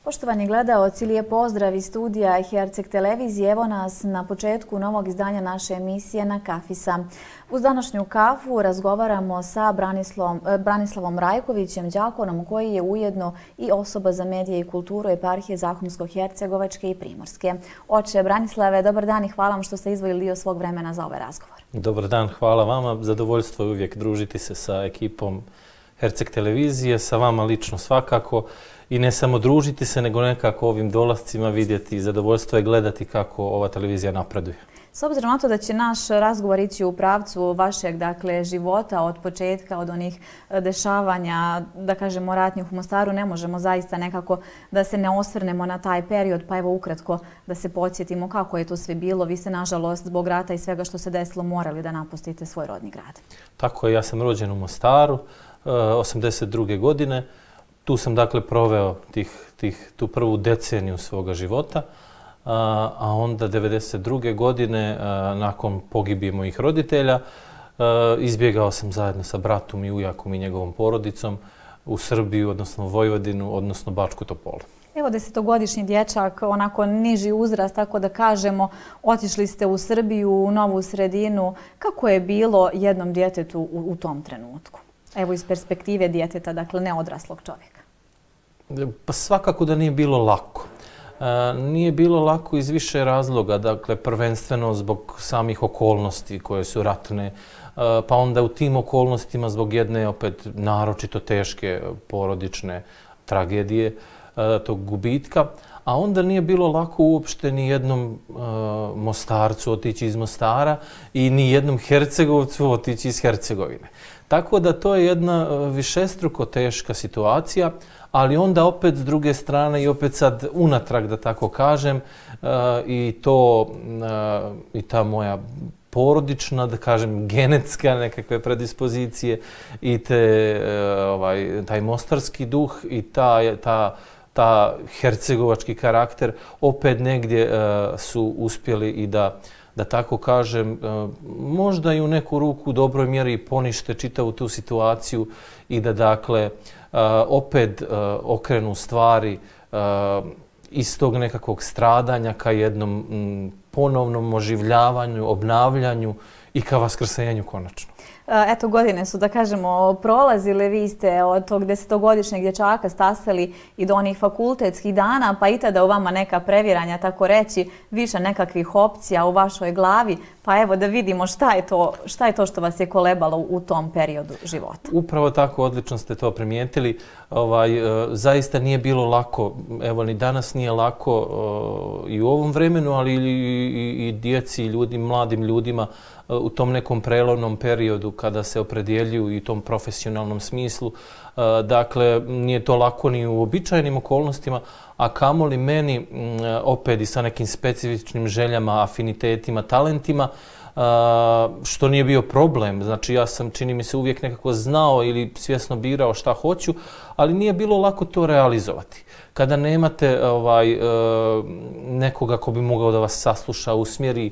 Poštovani gledaoci, lijep pozdrav iz studija Herceg televizije. Evo nas na početku novog izdanja naše emisije Na Kafisa. Uz današnju kafu razgovaramo sa Branislavom Rajkovićem, đakonom koji je ujedno i osoba za medije i kulturu eparhije Zahumsko-Hercegovačke i Primorske. Oče Branislave, dobar dan i hvala vam što ste izdvojili dio svog vremena za ovaj razgovor. Dobar dan, hvala vama. Zadovoljstvo je uvijek družiti se sa ekipom Herceg televizije, sa vama lično svakako. I ne samo družiti se, nego nekako ovim dolascima vidjeti. Zadovoljstvo je gledati kako ova televizija napreduje. S obzirom na to da će naš razgovor ići u pravcu vašeg života od početka, od onih dešavanja, da kažemo ratnih u Mostaru, ne možemo zaista nekako da se ne osvrnemo na taj period, pa evo ukratko da se podsjetimo kako je to sve bilo. Vi ste nažalost zbog rata i svega što se desilo morali da napustite svoj rodni grad. Tako je, ja sam rođen u Mostaru 82. godine. Tu sam dakle proveo tu prvu deceniju svoga života, a onda 92. godine, nakon pogibije mojih roditelja, izbjegao sam zajedno sa bratom i ujakom i njegovom porodicom u Srbiju, odnosno Vojvodinu, odnosno Bačku Topolu. Evo, 10-godišnji dječak, onako niži uzrast, tako da kažemo, otišli ste u Srbiju, u novu sredinu. Kako je bilo jednom djetetu u tom trenutku? Evo iz perspektive djeteta, dakle ne odraslog čovjeka. Pa svakako da nije bilo lako. Nije bilo lako iz više razloga, dakle prvenstveno zbog samih okolnosti koje su ratne, pa onda u tim okolnostima zbog jedne opet naročito teške porodične tragedije, tog gubitka, a onda nije bilo lako uopšte ni jednom Mostarcu otići iz Mostara i ni jednom Hercegovcu otići iz Hercegovine. Tako da to je jedna višestruko teška situacija, ali onda opet s druge strane i opet sad unatrag, da tako kažem, i ta moja porodična, da kažem, genetska nekakve predispozicije i taj mostarski duh i ta hercegovački karakter opet negdje su uspjeli i da tako kažem, možda i u neku ruku u dobroj mjeri ponište čitavu tu situaciju i da dakle opet okrenu stvari iz tog nekakvog stradanja ka jednom ponovnom oživljavanju, obnavljanju i ka vaskrsenju konačno. Eto, godine su, da kažemo, prolazile. Vi ste od tog 10-godišnjeg dječaka stasali i do onih fakultetskih dana, pa i tada u vama neka previranja, tako reći, više nekakvih opcija u vašoj glavi. Pa evo da vidimo šta je to što vas je kolebalo u tom periodu života. Upravo tako, odlično ste to primijetili. Zaista nije bilo lako, evo ni danas nije lako i u ovom vremenu, ali i djeci, i mladim ljudima u tom nekom prelomnom periodu kada se opredjeljuju i u tom profesionalnom smislu. Dakle, nije to lako ni u uobičajenim okolnostima, a kamoli meni opet i sa nekim specifičnim željama, afinitetima, talentima, što nije bio problem. Znači, ja sam, čini mi se, uvijek nekako znao ili svjesno birao šta hoću, ali nije bilo lako to realizovati. Kada nemate nekoga ko bi mogao da vas sasluša, usmjeri,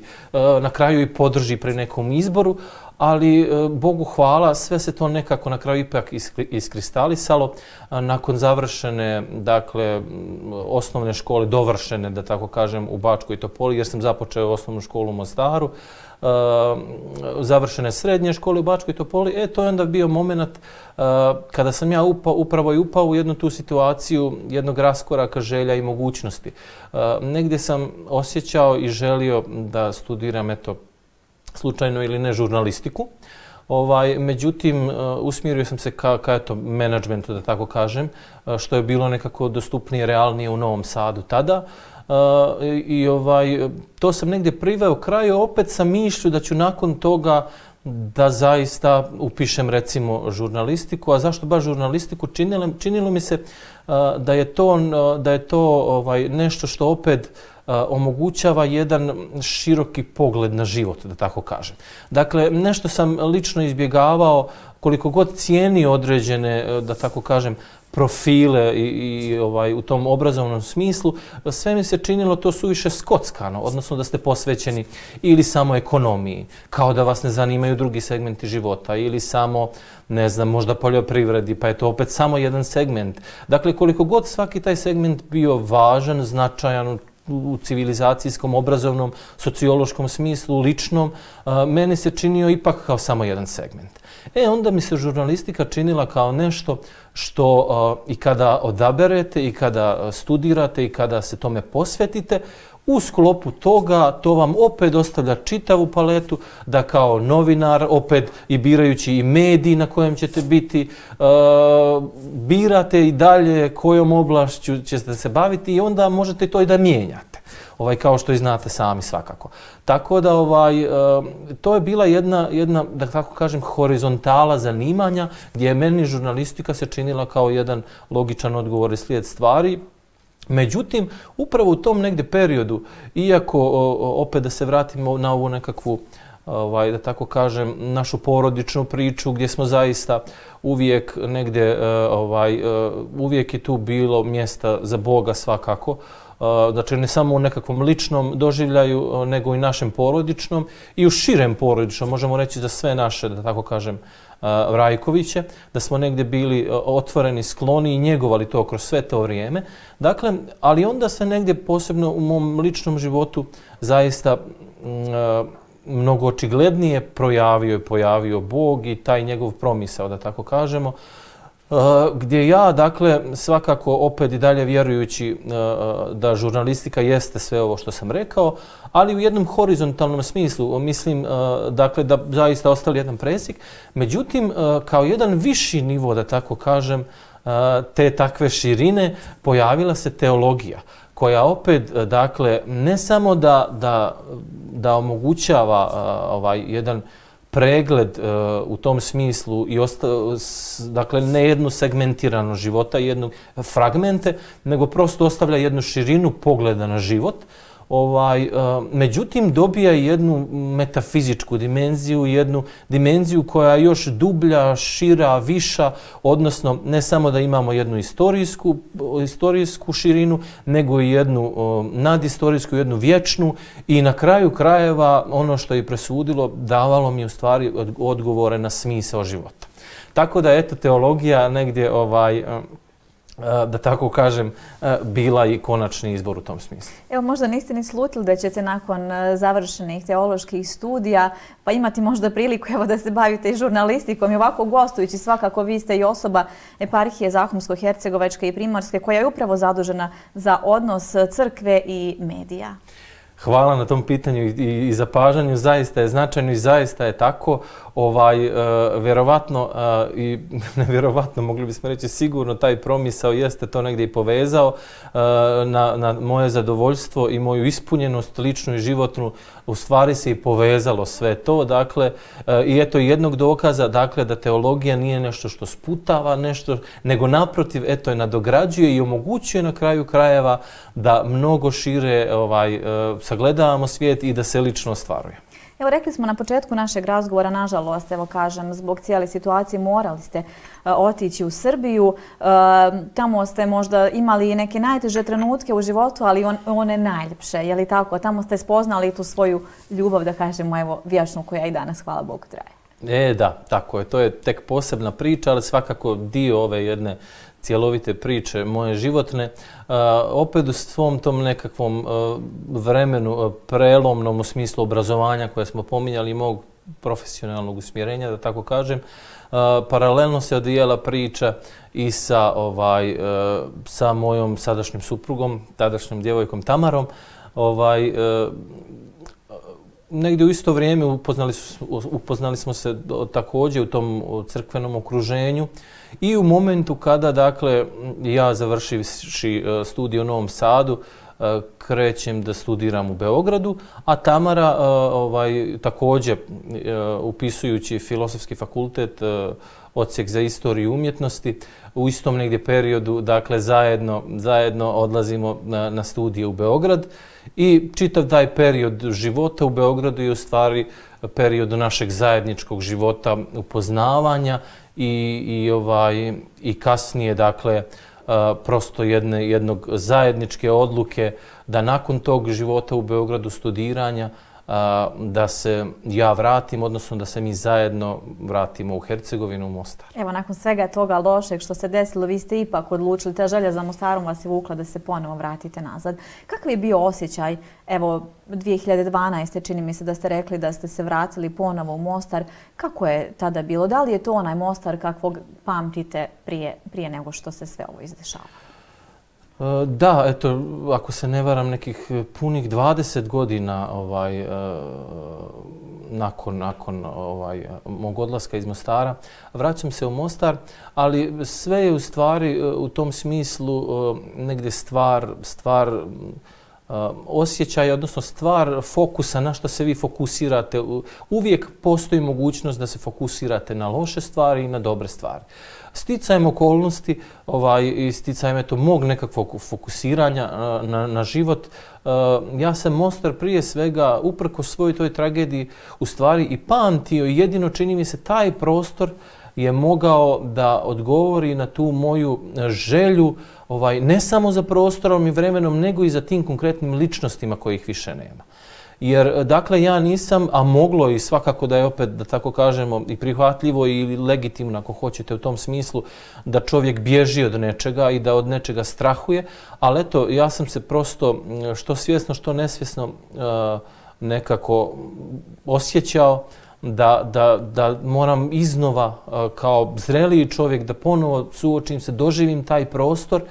na kraju i podrži pri nekom izboru, ali Bogu hvala, sve se to nekako na kraju ipak iskristalisalo. Nakon završene, dakle, osnovne škole, dovršene, da tako kažem, u Bačkoj Topoli, jer sam započeo osnovnu školu u Mostaru, završene srednje škole u Bačkoj Topoli, to je onda bio moment kada sam ja upravo i upao u jednu tu situaciju jednog raskoraka želja i mogućnosti. Negdje sam osjećao i želio da studiram, slučajno ili ne, žurnalistiku. Međutim, usmjerio sam se ka menadžmentu, da tako kažem, što je bilo nekako dostupnije, realnije u Novom Sadu tada. I to sam negdje priveo kraju opet sa mišlju da ću nakon toga da zaista upišem recimo žurnalistiku. A zašto baš žurnalistiku? Činilo mi se da je to nešto što opet omogućava jedan široki pogled na život, da tako kažem. Dakle, nešto sam lično izbjegavao koliko god cijeni određene, da tako kažem, profile u tom obrazovnom smislu, sve mi se činilo to suviše skockano, odnosno da ste posvećeni ili samo ekonomiji, kao da vas ne zanimaju drugi segmenti života, ili samo, ne znam, možda poljoprivredi, pa je to opet samo jedan segment. Dakle, koliko god svaki taj segment bio važan, značajan u civilizacijskom, obrazovnom, sociološkom smislu, ličnom, meni se činio ipak kao samo jedan segment. Onda mi se žurnalistika činila kao nešto što i kada odaberete, i kada studirate, i kada se tome posvetite, u sklopu toga to vam opet ostavlja čitavu paletu da kao novinar, opet i birajući i mediji na kojem ćete biti, birate i dalje kojom oblašću ćete se baviti i onda možete to i da mijenjate. Kao što i znate sami svakako. Tako da to je bila jedna, da tako kažem, horizontala zanimanja gdje je meni žurnalistika se činila kao jedan logičan odgovor i slijed stvari. Međutim, upravo u tom negdje periodu, iako opet da se vratimo na ovu nekakvu, da tako kažem, našu porodičnu priču gdje smo zaista uvijek negdje, uvijek je tu bilo mjesta za Boga svakako, znači ne samo u nekakvom ličnom doživljaju, nego i našem porodičnom i u širem porodičnom, možemo reći za sve naše, da tako kažem, Rajkoviće, da smo negdje bili otvoreni, skloni i njegovali to kroz sve to vrijeme. Dakle, ali onda se negdje posebno u mom ličnom životu zaista mnogo očiglednije pojavio Bog i taj njegov promisao, da tako kažemo, gdje ja, dakle, svakako opet i dalje vjerujući da žurnalistika jeste sve ovo što sam rekao, ali u jednom horizontalnom smislu, mislim, dakle, da zaista ostali jedan presjek. Međutim, kao jedan viši nivo, da tako kažem, te takve širine, pojavila se teologija, koja opet, dakle, ne samo da omogućava jedan pregled u tom smislu i dakle ne jednu segmentiranu života, jednu fragmente, nego prosto ostavlja jednu širinu pogleda na život. Međutim, dobija jednu metafizičku dimenziju, jednu dimenziju koja je još dublja, šira, viša, odnosno ne samo da imamo jednu istorijsku širinu, nego i jednu nadistorijsku, jednu vječnu i na kraju krajeva ono što je presudilo davalo mi u stvari odgovore na smisao života. Tako da eto teologija negdje da tako kažem, bila i konačni izbor u tom smislu. Evo, možda niste ni slutili da ćete nakon završenih teoloških studija pa imati možda priliku da se bavite i žurnalistikom i ovako gostujući, svakako vi ste i osoba eparhije Zahumsko-Hercegovačke i Primorske koja je upravo zadužena za odnos crkve i medija. Hvala na tom pitanju i zapažanju, zaista je značajno i zaista je tako. Vjerovatno i nevjerovatno, mogli bismo reći sigurno, taj promisao jeste to negdje i povezao na moje zadovoljstvo i moju ispunjenost ličnu i životnu, u stvari se i povezalo sve to. Dakle, i eto jednog dokaza, dakle, da teologija nije nešto što sputava nešto, nego naprotiv, eto je nadograđuje i omogućuje na kraju krajeva da mnogo šire sagledavamo svijet i da se lično ostvaruje. Evo, rekli smo na početku našeg razgovora, nažalost, evo kažem, zbog cijele situacije morali ste otići u Srbiju. Tamo ste možda imali i neke najteže trenutke u životu, ali one najljepše, je li tako? Tamo ste spoznali tu svoju ljubav, da kažemo, evo, vječnu koja i danas, hvala Bogu, traje. Da, tako je. To je tek posebna priča, ali svakako dio ove jedne cjelovite priče moje životne. Opet u svom tom nekakvom vremenu prelomnom u smislu obrazovanja koje smo pominjali i mog profesionalnog usmjerenja, da tako kažem, paralelno se odvijala priča i sa mojom sadašnjim suprugom, tadašnjom djevojkom Tamarom. Negdje u isto vrijeme upoznali smo se također u tom crkvenom okruženju i u momentu kada, dakle, ja završivši studij u Novom Sadu, krećem da studiram u Beogradu, a Tamara također upisujući Filozofski fakultet odsjek za istoriju umjetnosti. U istom negdje periodu, dakle, zajedno odlazimo na studije u Beograd i čitav taj period života u Beogradu je u stvari period našeg zajedničkog života, upoznavanja i kasnije, dakle, prosto jednog zajedničke odluke da nakon tog života u Beogradu, studiranja, da se ja vratim, odnosno da se mi zajedno vratimo u Hercegovinu, u Mostar. Evo, nakon svega toga lošeg što se desilo, vi ste ipak odlučili, ta želja za Mostarom vas je vukla da se ponovo vratite nazad. Kakav je bio osjećaj, evo, 2012. čini mi se da ste rekli da ste se vratili ponovo u Mostar. Kako je tada bilo? Da li je to onaj Mostar kakvog pamtite prije nego što se sve ovo izdešava? Da, eto, ako se ne varam, nekih punih 20 godina nakon mog odlaska iz Mostara, vraćam se u Mostar, ali sve je u stvari u tom smislu negdje stvar osjećaja, odnosno stvar fokusa na što se vi fokusirate. Uvijek postoji mogućnost da se fokusirate na loše stvari i na dobre stvari. Sticajem okolnosti i sticajem mog nekakvog fokusiranja na život, ja sam Mostar prije svega, uprkos svojoj toj tragediji, u stvari i pamtio i jedino čini mi se taj prostor je mogao da odgovori na tu moju želju ne samo za prostorom i vremenom, nego i za tim konkretnim ličnostima kojih više nema. Jer, dakle, ja nisam, a moglo i svakako da je opet, da tako kažemo, i prihvatljivo i legitimno, ako hoćete, u tom smislu, da čovjek bježi od nečega i da od nečega strahuje, ali eto, ja sam se prosto, što svjesno, što nesvjesno, nekako osjećao da moram iznova, kao zreliji čovjek, da ponovo suočim se, doživim taj prostor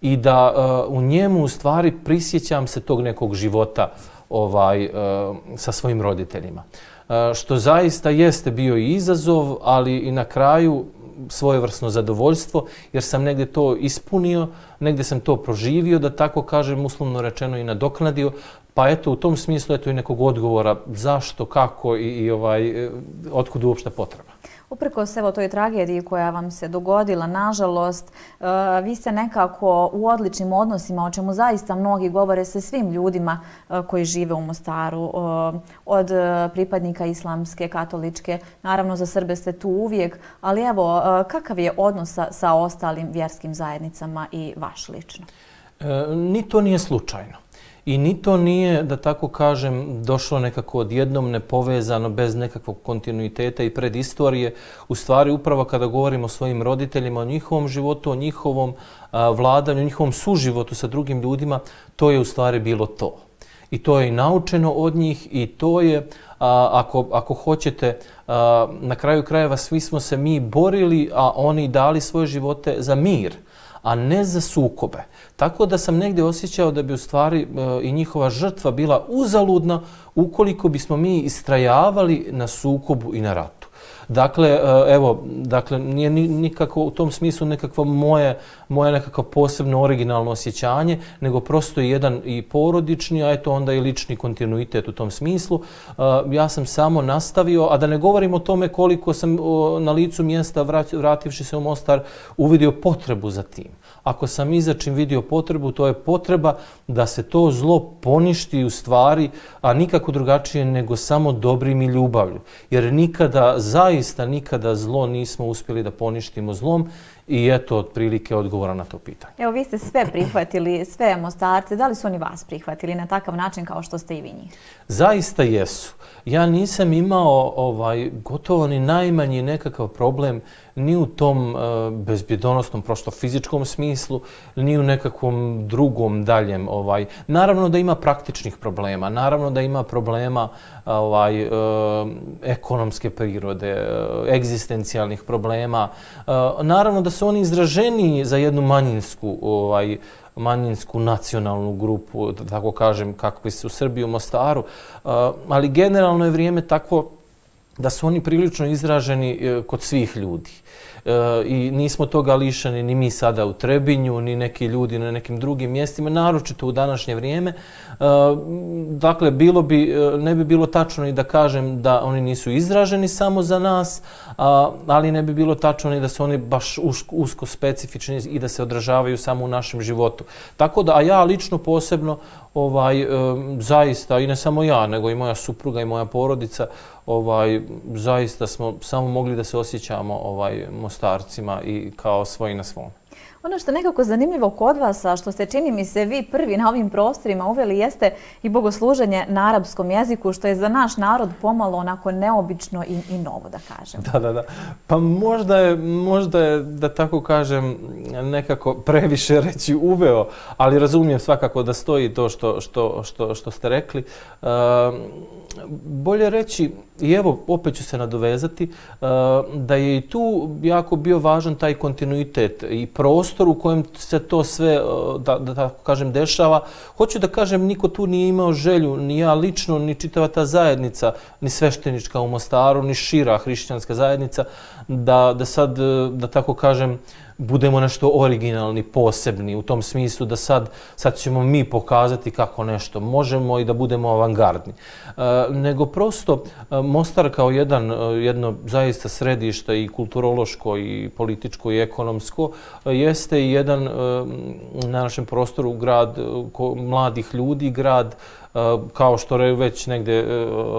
i da u njemu u stvari prisjećam se tog nekog života sa svojim roditeljima. Što zaista jeste bio i izazov, ali i na kraju svojevrsno zadovoljstvo, jer sam negdje to ispunio, negdje sam to proživio, da tako kažem, uslovno rečeno i nadoknadio. Pa eto, u tom smislu i nekog odgovora zašto, kako i otkud uopšte potreba. Uprkos evo toj tragediji koja vam se dogodila, nažalost, vi ste nekako u odličnim odnosima, o čemu zaista mnogi govore sa svim ljudima koji žive u Mostaru, od pripadnika islamske, katoličke, naravno za Srbe ste tu uvijek, ali evo, kakav je odnos sa ostalim vjerskim zajednicama i vaš lično? Ni to nije slučajno. I ni to nije, da tako kažem, došlo nekako odjednom nepovezano, bez nekakvog kontinuiteta i predistorije. U stvari, upravo kada govorimo o svojim roditeljima, o njihovom životu, o njihovom vladanju, o njihovom suživotu sa drugim ljudima, to je u stvari bilo to. I to je i naučeno od njih i to je, ako hoćete, na kraju krajeva svi smo se mi borili, a oni dali svoje živote za mir, a ne za sukobe. Tako da sam negdje osjećao da bi u stvari i njihova žrtva bila uzaludna ukoliko bismo mi istrajavali na sukobu i na ratu. Dakle, evo, nije nikako u tom smislu nekakvo moje nekakvo posebno originalno osjećanje, nego prosto jedan i porodični, a eto onda i lični kontinuitet u tom smislu. Ja sam samo nastavio, a da ne govorim o tome koliko sam na licu mjesta, vrativši se u Mostar, uvidio potrebu za tim. Ako sam izačim vidio potrebu, to je potreba da se to zlo poništi u stvari, a nikako drugačije nego samo dobrim i ljubavlju. Jer zaista nikada zlo nismo uspjeli da poništimo zlom i eto otprilike odgovora na to pitanje. Evo, vi ste sve prihvatili, sve Mostarce. Da li su oni vas prihvatili na takav način kao što ste i vi njih? Zaista jesu. Ja nisam imao gotovo ni najmanji nekakav problem ni u tom bezbjedonosnom, prosto fizičkom smislu, ni u nekakvom drugom daljem. Naravno da ima praktičnih problema, naravno da ima problema ekonomske prirode, egzistencijalnih problema. Naravno da su oni izraženiji za jednu manjinsku nacionalnu grupu, da tako kažem, kakvi su u Srbiji, u Mostaru, ali generalno je vrijeme takvo da su oni prilično izraženi kod svih ljudi. I nismo toga lišeni ni mi sada u Trebinju, ni neki ljudi na nekim drugim mjestima, naročito u današnje vrijeme. Dakle, ne bi bilo tačno i da kažem da oni nisu izraženi samo za nas, ali ne bi bilo tačno ni da su oni baš usko specifični i da se odražavaju samo u našem životu. Tako da, a ja lično posebno, zaista, i ne samo ja, nego i moja supruga i moja porodica, zaista smo samo mogli da se osjećamo Mostarcima i kao svoji na svom. Ono što je nekako zanimljivo kod vas, a što ste, čini mi se, vi prvi na ovim prostorima uveli, jeste i bogosluženje na arapskom jeziku, što je za naš narod pomalo onako neobično i novo, da kažem. Da. Pa možda je, da tako kažem, nekako previše reći uveo, ali razumijem svakako da stoji to što ste rekli. Bolje reći, i evo, opet ću se nadovezati, da je i tu jako bio važan taj kontinuitet i prostor u kojem se to sve, da tako kažem, dešava. Hoću da kažem, niko tu nije imao želju, ni ja lično, ni čitava ta zajednica, ni sveštenička u Mostaru, ni šira hrišćanska zajednica, da sad, da tako kažem, budemo nešto originalni, posebni, u tom smislu da sad ćemo mi pokazati kako nešto možemo i da budemo avangardni. Nego prosto Mostar kao jedno zaista središte i kulturološko i političko i ekonomsko jeste i jedan na našem prostoru grad mladih ljudi, grad kao što već negdje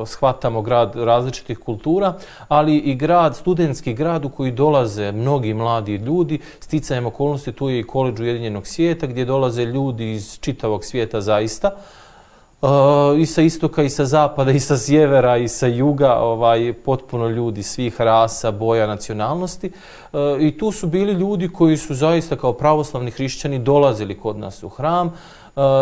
shvatamo, grad različitih kultura, ali i grad, studentski grad u koji dolaze mnogi mladi ljudi. Sticajem okolnosti tu je i Koledž Ujedinjenog svijeta gdje dolaze ljudi iz čitavog svijeta zaista. I sa istoka, i sa zapada, i sa sjevera, i sa juga, potpuno ljudi svih rasa, boja, nacionalnosti. I tu su bili ljudi koji su zaista kao pravoslavni hrišćani dolazili kod nas u hram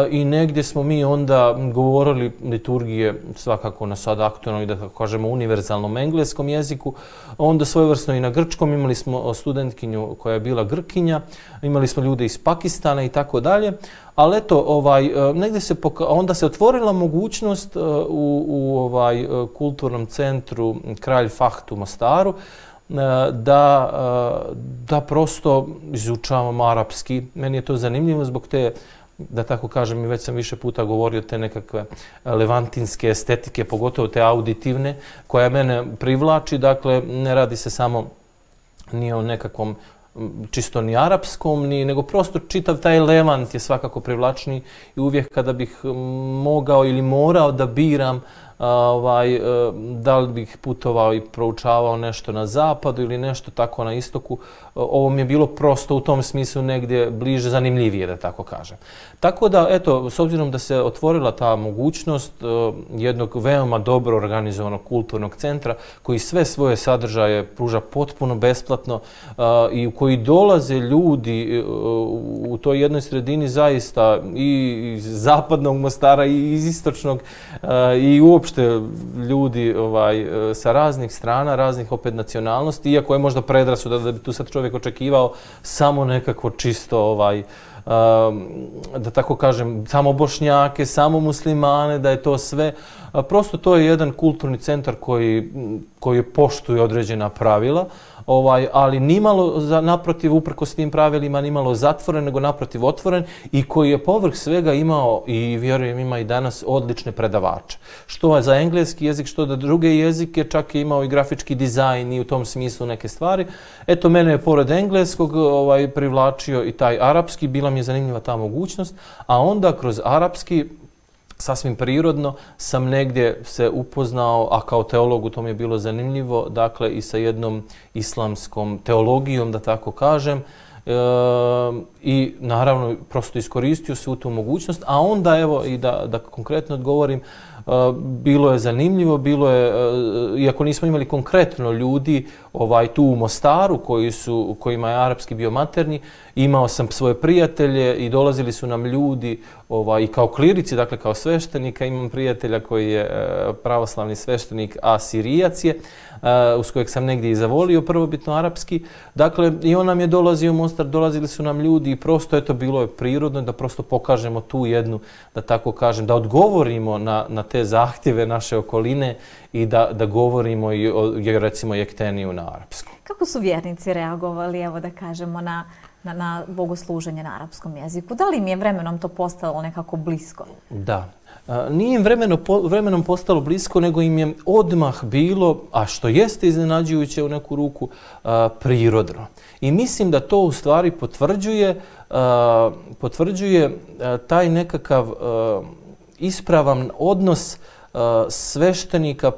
i negdje smo mi onda govorili liturgije svakako na sad aktualnom i da tako kažemo univerzalnom engleskom jeziku, onda svojevrsno i na grčkom. Imali smo studentkinju koja je bila Grkinja, imali smo ljude iz Pakistana i tako dalje. Ali eto, negdje onda se otvorila mogućnost u kulturnom centru Kralj Fahd u Mostaru da prosto izučavamo arapski. Meni je to zanimljivo zbog te, da tako kažem, i već sam više puta govorio, te nekakve levantinske estetike, pogotovo te auditivne, koja mene privlači. Dakle, ne radi se samo ni o nekakvom čisto ni arapskom, nego prosto čitav taj Levant je svakako privlačniji i uvijek kada bih mogao ili morao da biram da li bih putovao i proučavao nešto na zapadu ili nešto tako na istoku, ovo mi je bilo prosto u tom smislu negdje bliže, zanimljivije, da tako kažem. Tako da, eto, s obzirom da se otvorila ta mogućnost jednog veoma dobro organizovanog kulturnog centra koji sve svoje sadržaje pruža potpuno besplatno i u koji dolaze ljudi u toj jednoj sredini zaista i iz zapadnog Mostara i iz istočnog i uopšte ljudi sa raznih strana, raznih opet nacionalnosti, iako je možda predrasuda da bi tu sad čovjek očekivao samo nekako čisto da tako kažem, samo Bošnjake, samo muslimane, da je to sve. Prosto to je jedan kulturni centar koji poštuje određena pravila, ali nimalo naprotiv, uprkos tim pravilima, nimalo zatvoren, nego naprotiv otvoren i koji je povrh svega imao i vjerujem ima i danas odlične predavače. Što za engleski jezik, što da druge jezike, čak je imao i grafički dizajn i u tom smislu neke stvari. Eto, mene je pored engleskog privlačio i taj arapski, bila mi je zanimljiva ta mogućnost, a onda kroz arapski sasvim prirodno sam negdje se upoznao, a kao teolog to mi je bilo zanimljivo, dakle i sa jednom islamskom teologijom, da tako kažem, i naravno prosto iskoristio svu tu mogućnost, a onda evo i da konkretno odgovorim, bilo je zanimljivo, bilo je, iako nismo imali konkretno ljudi tu u Mostaru kojima je arapski bio maternji, imao sam svoje prijatelje i dolazili su nam ljudi i kao klirici, dakle kao sveštenika. Imam prijatelja koji je pravoslavni sveštenik, a Sirijac je, uz kojeg sam negdje i zavolio prvobitno arapski. Dakle, i on nam je dolazio u Mostar, dolazili su nam ljudi i prosto eto bilo je prirodno da prosto pokažemo tu jednu, da tako kažem, da odgovorimo na te zahtjeve naše okoline i da govorimo i recimo jekteniju na arapskom. Kako su vjernici reagovali, evo da kažemo, na na bogosluženje na arapskom jeziku. Da li im je vremenom to postalo nekako blisko? Da. Nije im vremenom postalo blisko, nego im je odmah bilo, a što jeste iznenađujuće u neku ruku, prirodno. I mislim da to u stvari potvrđuje taj nekakav ispravan odnos sveštenika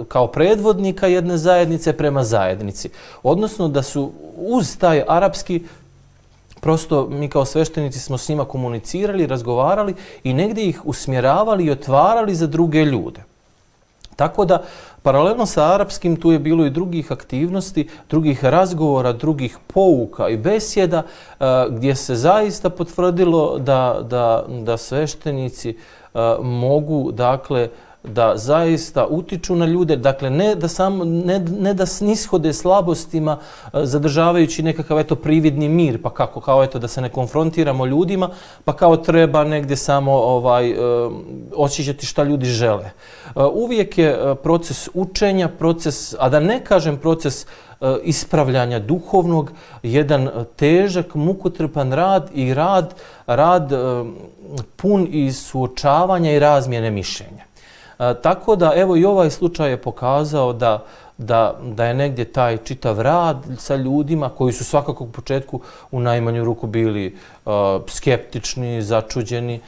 kao predvodnika jedne zajednice prema zajednici. Odnosno da su uz taj arapski, prosto mi kao sveštenici smo s njima komunicirali, razgovarali i negdje ih usmjeravali i otvarali za druge ljude. Tako da, paralelno sa arapskim, tu je bilo i drugih aktivnosti, drugih razgovora, drugih pouka i besjeda, gdje se zaista potvrdilo da sveštenici mogu, dakle, da zaista utiču na ljude, dakle ne da snishode slabostima zadržavajući nekakav prividni mir, pa kao da se ne konfrontiramo ljudima, pa kao treba negdje samo osjećati šta ljudi žele. Uvijek je proces učenja, a da ne kažem proces ispravljanja duhovnog, jedan težak, mukotrpan rad i rad pun i suočavanja i razmjene mišljenja. Tako da, evo i ovaj slučaj je pokazao da je negdje taj čitav rad sa ljudima koji su svakako u početku u najmanju ruku bili skeptični, začuđeni.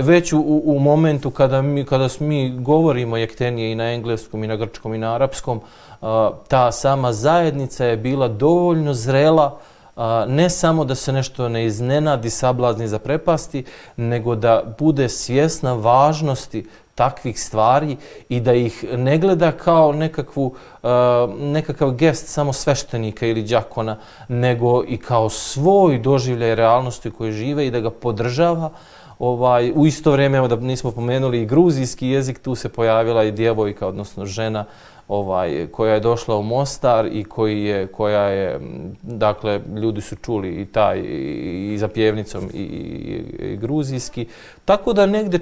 Već u momentu kada mi govorimo jektenije i na engleskom i na grčkom i na arapskom, ta sama zajednica je bila dovoljno zrela, ne samo da se nešto ne iznenadi, sablazni, zaprepasti, nego da bude svjesna važnosti takvih stvari i da ih ne gleda kao nekakav gest samo sveštenika ili đakona, nego i kao svoj doživljaj realnosti u kojoj žive i da ga podržava. U isto vrijeme, evo da nismo pomenuli i gruzijski jezik, tu se pojavila i djevojka, odnosno žena, koja je došla u Mostar i koja je, dakle, ljudi su čuli i za pjevnicom i gruzijski. Tako da negdje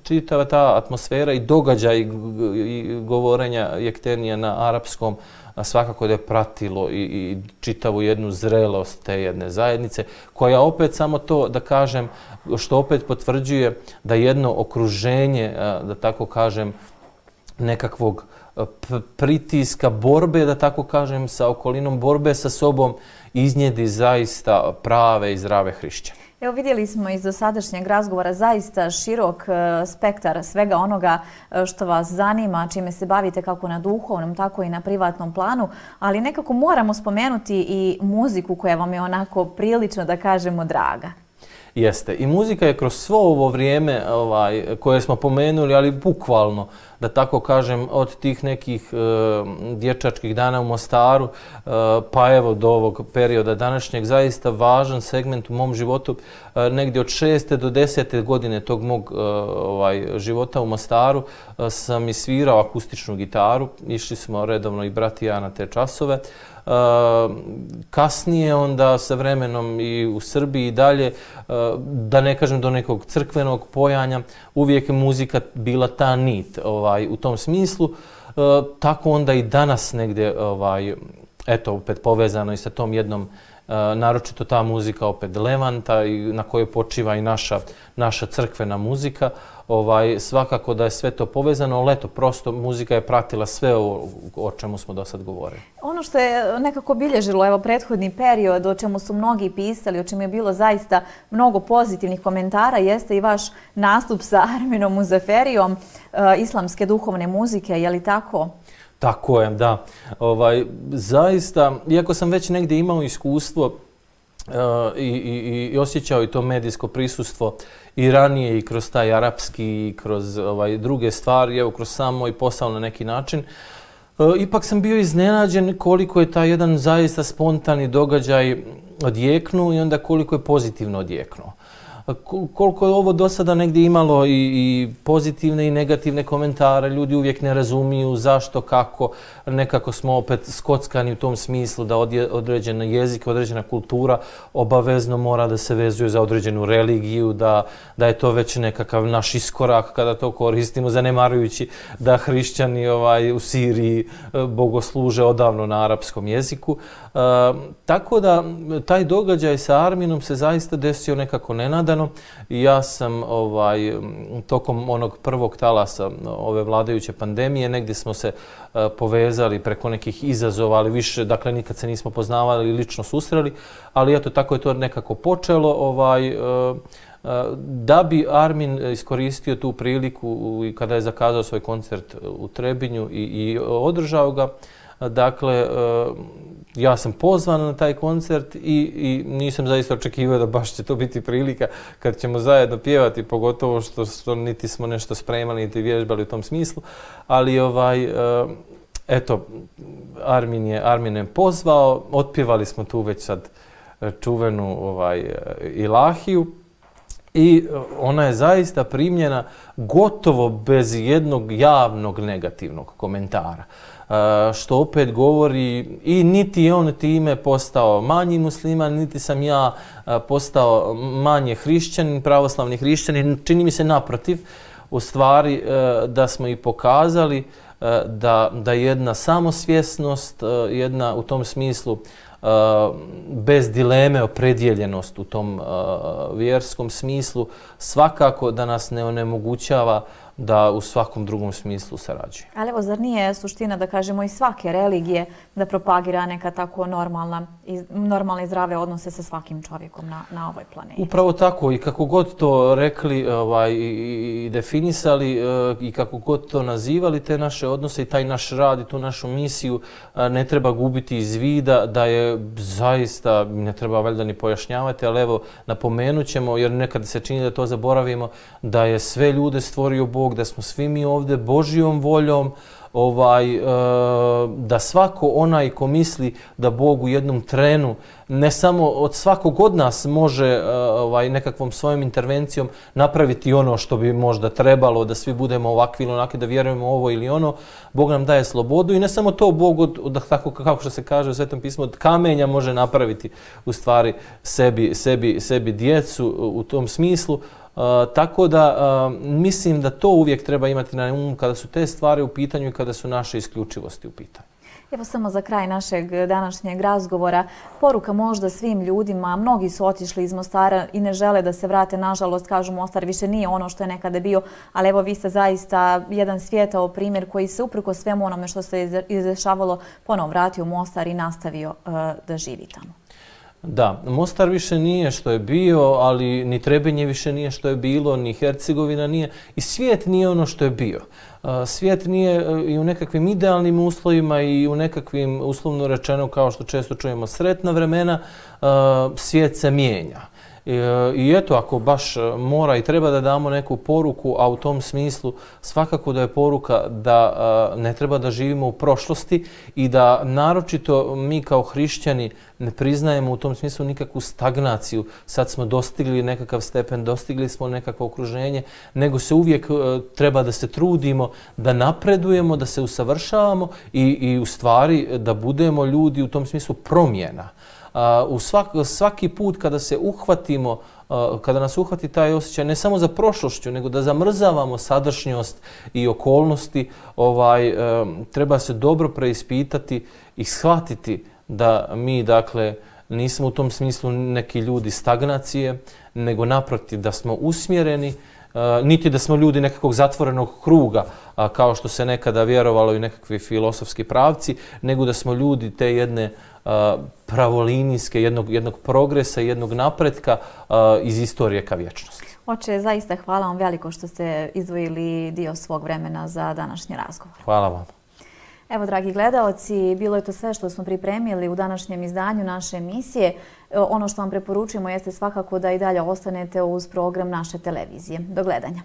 čitava ta atmosfera i događaj i govorenja jektenija na arapskom svakako da je pratilo i čitavu jednu zrelost te jedne zajednice, koja opet samo to, da kažem, što opet potvrđuje da jedno okruženje, da tako kažem, nekakvog pritiska, borbe, da tako kažem, sa okolinom, borbe sa sobom, iznijedi zaista prave i zdrave hrišćane. Evo, vidjeli smo iz dosadašnjeg razgovora zaista širok spektar svega onoga što vas zanima, čime se bavite kako na duhovnom, tako i na privatnom planu, ali nekako moramo spomenuti i muziku koja vam je onako prilično, da kažemo, draga. Jeste. I muzika je kroz svo ovo vrijeme koje smo pomenuli, ali bukvalno, da tako kažem, od tih nekih dječačkih dana u Mostaru, pa evo do ovog perioda današnjeg, zaista važan segment u mom životu. Negdje od 6. do 10. godine tog mog života u Mostaru sam i svirao akustičnu gitaru. Išli smo redovno i brat i ja na te časove. Kasnije onda sa vremenom i u Srbiji i dalje, da ne kažem do nekog crkvenog pojanja, uvijek je muzika bila ta nit u tom smislu. Tako onda i danas negdje, eto, opet povezano i sa tom jednom, naročito ta muzika opet Levanta na kojoj počiva i naša crkvena muzika. Svakako da je sve to povezano, ali eto, prosto muzika je pratila sve ovo o čemu smo do sad govorili. Ono što je nekako obilježilo, evo, prethodni period, o čemu su mnogi pisali, o čemu je bilo zaista mnogo pozitivnih komentara, jeste i vaš nastup sa Arminom Muzaferijom, islamske duhovne muzike, je li tako? Tako je, da. Zaista, iako sam već negdje imao iskustvo i osjećao i to medijsko prisustvo i ranije i kroz taj arapski i kroz druge stvari, evo kroz sam moj posao na neki način, ipak sam bio iznenađen koliko je taj jedan zaista spontani događaj odjeknuo i onda koliko je pozitivno odjeknuo. Koliko je ovo do sada negdje imalo i pozitivne i negativne komentare, ljudi uvijek ne razumiju zašto, kako, nekako smo opet skockani u tom smislu da određen jezik, određena kultura obavezno mora da se vezuje za određenu religiju, da je to već nekakav naš iskorak kada to koristimo, zanemarujući da hrišćani u Siriji bogosluže odavno na arapskom jeziku. Tako da taj događaj sa Arminom se zaista desio nekako nenadano i ja sam tokom onog prvog talasa ove vladajuće pandemije negdje smo se povezali preko nekih izazova, ali više, dakle nikad se nismo poznavali i lično susreli, ali eto tako je to nekako počelo. Da bi Armin iskoristio tu priliku kada je zakazao svoj koncert u Trebinju i održao ga, dakle, ja sam pozvan na taj koncert i nisam zaista očekivao da baš će to biti prilika kad ćemo zajedno pjevati, pogotovo što niti smo nešto spremali, niti vježbali u tom smislu, ali eto, Armin je pozvao, otpjevali smo tu već sad čuvenu Ilahiju i ona je zaista primljena gotovo bez jednog javnog negativnog komentara. Što opet govori i niti je on time postao manji musliman, niti sam ja postao manje hrišćanin, pravoslavni hrišćanin. Čini mi se naprotiv, u stvari da smo i pokazali da jedna samosvjesnost, jedna u tom smislu bez dileme opredjeljenost u tom vjerskom smislu svakako da nas ne onemogućava da u svakom drugom smislu sarađuje. Ali evo, zar nije suština, da kažemo, i svake religije da propagira neka tako normalne i zdrave odnose sa svakim čovjekom na ovoj planeti? Upravo tako, i kako god to rekli i definisali i kako god to nazivali te naše odnose i taj naš rad i tu našu misiju, ne treba gubiti iz vida da je zaista, ne treba valjda ni pojašnjavati, ali evo napomenut ćemo, jer nekad se čini da to zaboravimo, da je sve ljude stvorio Bog, da smo svi mi ovdje Božjom voljom, da svako onaj ko misli da Bog u jednom trenu ne samo od svakog od nas može nekakvom svojom intervencijom napraviti ono što bi možda trebalo, da svi budemo ovakvi ili onakvi, da vjerujemo ovo ili ono. Bog nam daje slobodu i ne samo to, Bog, tako kako što se kaže u Svetom pismu, od kamenja može napraviti u stvari sebi djecu u tom smislu. Tako da mislim da to uvijek treba imati na umu kada su te stvari u pitanju i kada su naše isključivosti u pitanju. Evo samo za kraj našeg današnjeg razgovora, poruka možda svim ljudima, mnogi su otišli iz Mostara i ne žele da se vrate, nažalost, kažu Mostar više nije ono što je nekada bio, ali evo vi ste zaista jedan svijetao primjer koji se uprkos svemu onome što se izdešavalo ponovo vratio u Mostar i nastavio da živi tamo. Da, Mostar više nije što je bio, ali ni Trebinje više nije što je bilo, ni Hercegovina nije i svijet nije ono što je bio. Svijet nije i u nekakvim idealnim uslovima i u nekakvim, uslovno rečeno, kao što često čujemo, sretna vremena, svijet se mijenja. I eto, ako baš mora i treba da damo neku poruku, a u tom smislu svakako da je poruka da ne treba da živimo u prošlosti i da naročito mi kao hrišćani ne priznajemo u tom smislu nikakvu stagnaciju. Sad smo dostigli nekakav stepen, dostigli smo nekakvo okruženje, nego se uvijek treba da se trudimo, da napredujemo, da se usavršavamo i u stvari da budemo ljudi u tom smislu promjena. Svaki put kada se uhvatimo, kada nas uhvati taj osjećaj ne samo za prošlošću, nego da zamrzavamo sadašnjost i okolnosti, treba se dobro preispitati i shvatiti da mi, dakle, nismo u tom smislu neki ljudi stagnacije, nego naprotiv da smo usmjereni, niti da smo ljudi nekakvog zatvorenog kruga, kao što se nekada vjerovalo i nekakvi filosofski pravci, nego da smo ljudi te jedne pravolinijske, jednog progresa, jednog napretka iz istorije ka vječnosti. Oče, zaista hvala vam veliko što ste izdvojili dio svog vremena za današnji razgovor. Hvala vam. Evo, dragi gledaoci, bilo je to sve što smo pripremili u današnjem izdanju naše emisije. Ono što vam preporučujemo jeste svakako da i dalje ostanete uz program naše televizije. Do gledanja.